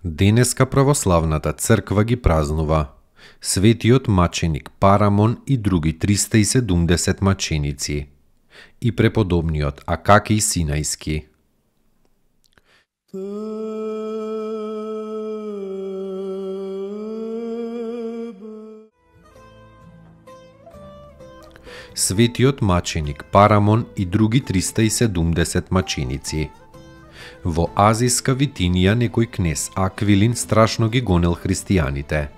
Денеска православната црква ги празнува светиот маченик Парамон и други 370 маченици и преподобниот Акакий Синајски. Светиот маченик Парамон и други 370 маченици. Во Азиска Витинија некој кнез Аквилин страшно ги гонел христијаните.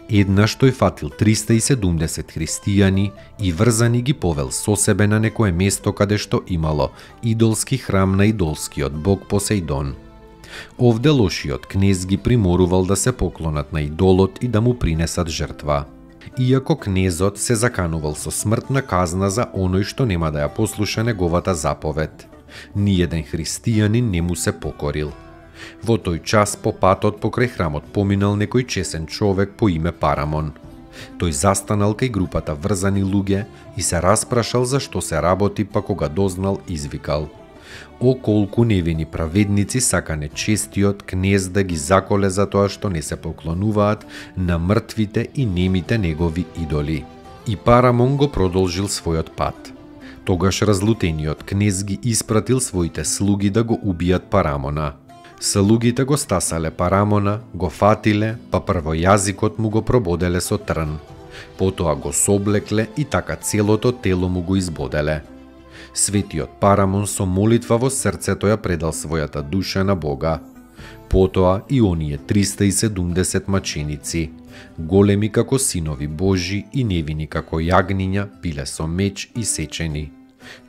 Еднаш тој фатил 370 христијани и врзани ги повел со себе на некое место каде што имало идолски храм на идолскиот бог Посејдон. Овде лошиот кнез ги приморувал да се поклонат на идолот и да му принесат жртва. Иако кнезот се заканувал со смртна казна за оној што нема да ја послуша неговата заповед, ниеден христијанин не му се покорил. Во тој час по патот покрај храмот поминал некој чесен човек по име Парамон. Тој застанал кај групата врзани луѓе и се распрашал за што се работи, па кога дознал извикал: "О, колку невини праведници сакане честиот кнез да ги заколе за тоа што не се поклонуваат на мртвите и немите негови идоли." И Парамон го продолжил својот пат. Тогаш разлутениот кнез ги испратил своите слуги да го убијат Парамона. Слугите го стасале Парамона, го фатиле, па прво јазикот му го прободеле со трн. Потоа го соблекле и така целото тело му го избоделе. Светиот Парамон со молитва во срцето ја предал својата душа на Бога. Потоа и оние 370 маченици, големи како синови Божи и невини како јагниња, биле со меч и сечени,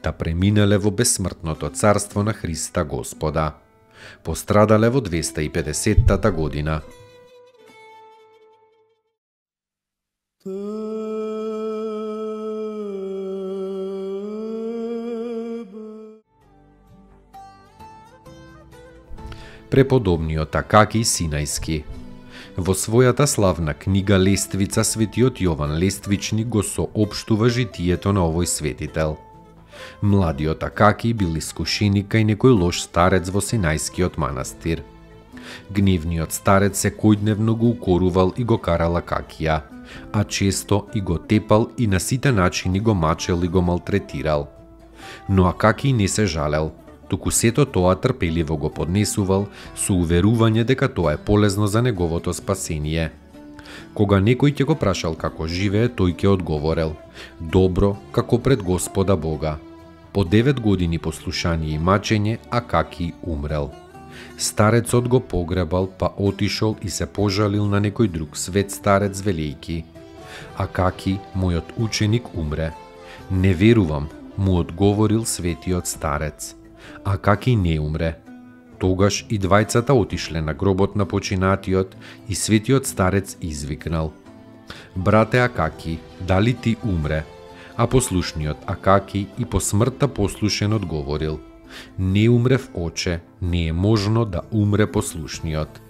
та преминале во бесмртното царство на Христа Господа. Пострадале во 250-та година. Преподобниот Акакий Синајски. Во својата славна книга Лествица светиот Јован Лествичник го соопштува житието на овој светител. Младиот Акакий бил искушеник кај некој лош старец во Синајскиот манастир. Гневниот старец секојдневно го укорувал и го карал Акакија, а често и го тепал и на сите начини го мачел и го малтретирал. Но Акакий не се жалел, туку сето тоа трпеливо го поднесувал со уверување дека тоа е полезно за неговото спасение. Кога некој ќе го прашал како живее, тој ќе одговорел: "Добро, како пред Господа Бога." По 9 години послушание и мачење, Акакий умрел. Старецот го погребал, па отишол и се пожалил на некој друг свет старец велејки: "Акакий, мојот ученик, умре." "Не верувам," му одговорил светиот старец. Акакий не умре. Тогаш и двајцата отишле на гробот на починатиот и светиот старец извикнал: "Брате Акакий, дали ти умре?" А послушниот Акакий и по смртта послушен одговорил: "Не умрев, оче, не е можно да умре послушниот."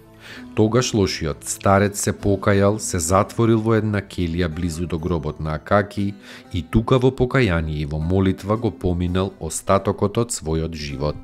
Тогаш лошиот старец се покајал, се затворил во една келија близу до гробот на Акакий и тука во покаяние и во молитва го поминал остатокот од својот живот.